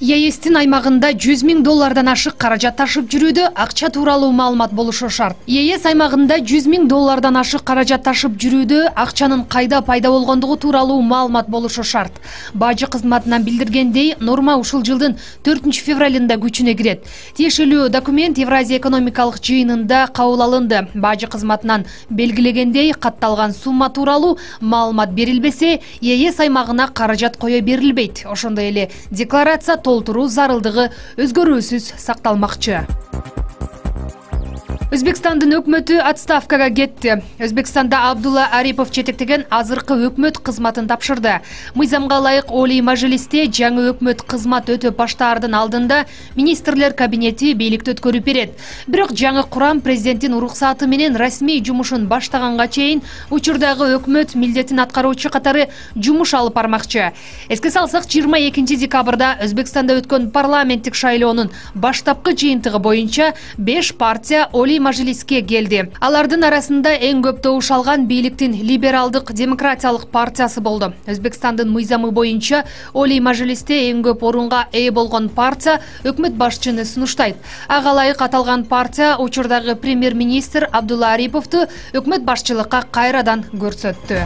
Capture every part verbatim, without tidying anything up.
ЕСтин аймагында жүз миң доллардан ашык каражат ташып жүрүүдө акча тууралуу маалымат болушу шарт. ЕС аймагында жүз миң доллардан ашык каражат ташып жүрүүдө акчанын кайда пайда болгондугу тууралуу маалымат болушу шарт. Бажы кызматынан билдиргендей, норма ушул жылдын төртүнчү февралында күчүнө кирет. Тиешелүү документ Евразия экономикалык жыйынында кабыл алынды. Бажы кызматынан белгилегендей, катталган сумма тууралуу маалымат берилбесе, ЕС аймагына каражат кое берилбейт. Ошондой эле декларация толтуруу зарылдыгы өзгөрүүсүз сакталмакчы. Өзбекстандын өкмөтү отставкага кетти. Өзбекстанда Абдулла Арипов жетектеген азыркы өкмөт кызматын тапшырды. Мыйзамга ылайык Олий Мажлисте жаңы өкмөт кызмат өтөп баштаардын алдында министрлер кабинети бийликти өткөрүп берет. Бирок жаңы курам президенттин уруксаты менен расмий жумушун баштаганга чейин учурдагы өкмөт милдетин аткаруучу катары жумуш алып бармакчы. Эске салсак, жыйырма экинчи декабрда Өзбекстанда өткөн парламенттик шайлоонун баштапкы жыйынтыгы боюнча беш партия Олий Мажлиске келди. Алардын арасында эң көп добуш алган бийликтин либералдык демократиялык партиясы болду. Өзбекстандын мыйзамы боюнча Олий Мажлисте эң көп орунга ээ болгон партия өкмөт башчыны сунуштайт. Ага ылайык аталган партия учурдагы премьер-министр Абдулла Ариповду өкмөт башчылыкка кайрадан көрсөттү.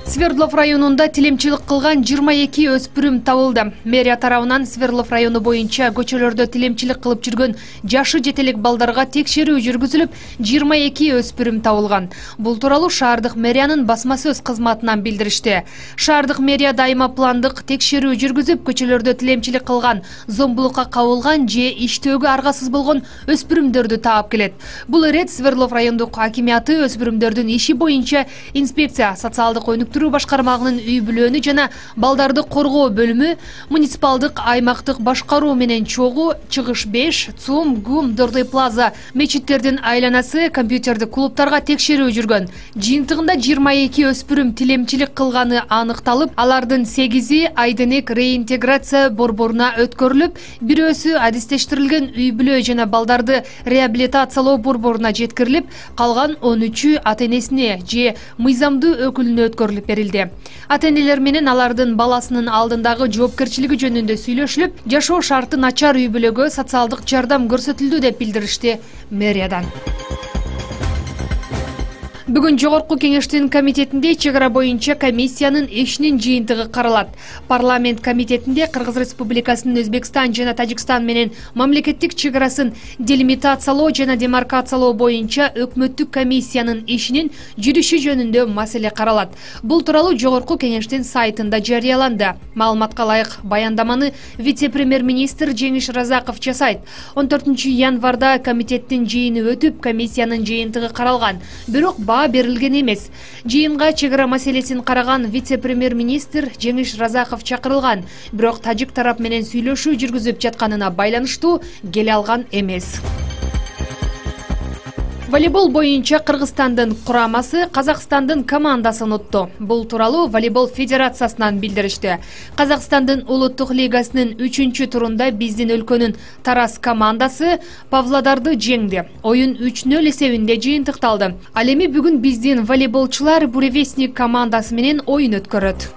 Свердлов районунда тилемчилик кылган жыйырма эки өспүрүм табылды. Мэрия тарабынан Свердлов району боюнча көчөлөрдө тилемчилик кылып жүргөн жашы жетелек балдарга текшерүү жүргүзүлүп, жыйырма эки өспүрүм табылган. Бул тууралуу шаардык мэриянын басма сөз кызматынан билдиришти. Шаардык мэрия дайыма пландык текшерүү жүргүзүп, көчөлөрдө тилемчилик кылган, зомбулукка кабылган же иштөөгө аргасыз болгон өспүрүмдөрдү таап келет. Бул ирет Свердлов райондук акимияты өспүрүмдөрдүн иши боюнча инспекция социалдык өнүктүрүү башкармагынын үй бүлөнү жана балдарды коргоо бөлүмү, муниципалдык аймактык башкаруу менен чогуу чыгыш беш, ЦУМ, ГУМ, Дордой плаза, мечиттердин айланасы, компьютердик клубтарга текшерүү жүргөн. Жыйынтыгында жыйырма эки өспүрүм тилемчилик кылганы аныкталып, алардын сегизи Айденек реинтеграция борборуна өткөрүлүп, бирөөсү адистештирилген үй бүлө жана балдарды реабилитациялоо борборуна жеткирилип, калган он үчү ата-энесине же мыйзамдуу өкүлүнө өткөрүлүп берилди. Ата-энелер менен алардын баласынын алдындагы жоопкерчилиги жөнүндө сүйлөшүлүп, жашоо шарты начар үй бүлөгө социалдык жардам көрсөтүлдү деп билдиришти мэриядан. Бүгүн Жогорку кеңештин комитетинде чек ара боюнча комиссиянын ишинин жыйынтыгы каралат. Парламент комитетинде Кыргыз Республикасынын Өзбекстан жана Тажикстан менен мамлекеттик чек арасын делимитациялоо жана демаркациялоо боюнча өкмөттүк комиссиянын ишинин жүрүшү жөнүндө маселе каралат. Бул тууралуу Жогорку кеңештин сайтында жарыяланды. Маалыматка ылайык баяндаманы вице-премьер-министр Жеңиш Разаков жасайт. он төртүнчү январда комитеттин жыйыны өтүп, комиссиянын жыйынтыгы каралган. Бирок берилген эмес. Жыйынга чек ара маселесин караган вице-премьер-министр Жеңиш Разаков чакырылган, бирок тажик тарап менен сүйлөшүү жүргүзүп жатканына байланыштуу келе алган эмес. Волейбол боюнча Кыргызстандын курамасы Казакстандын командасын утту. Бул тууралуу волейбол федерациясынан билдиришти. Казакстандын улуттук лигасынын үчүнчү турунда биздин өлкөнүн Тарас командасы Павлодарды жеңди. Оюн үч нөл эсебинде жыйынтыкталды. Ал эми бүгүн биздин волейболчулар Буревестник командасы менен оюн өткөрөт.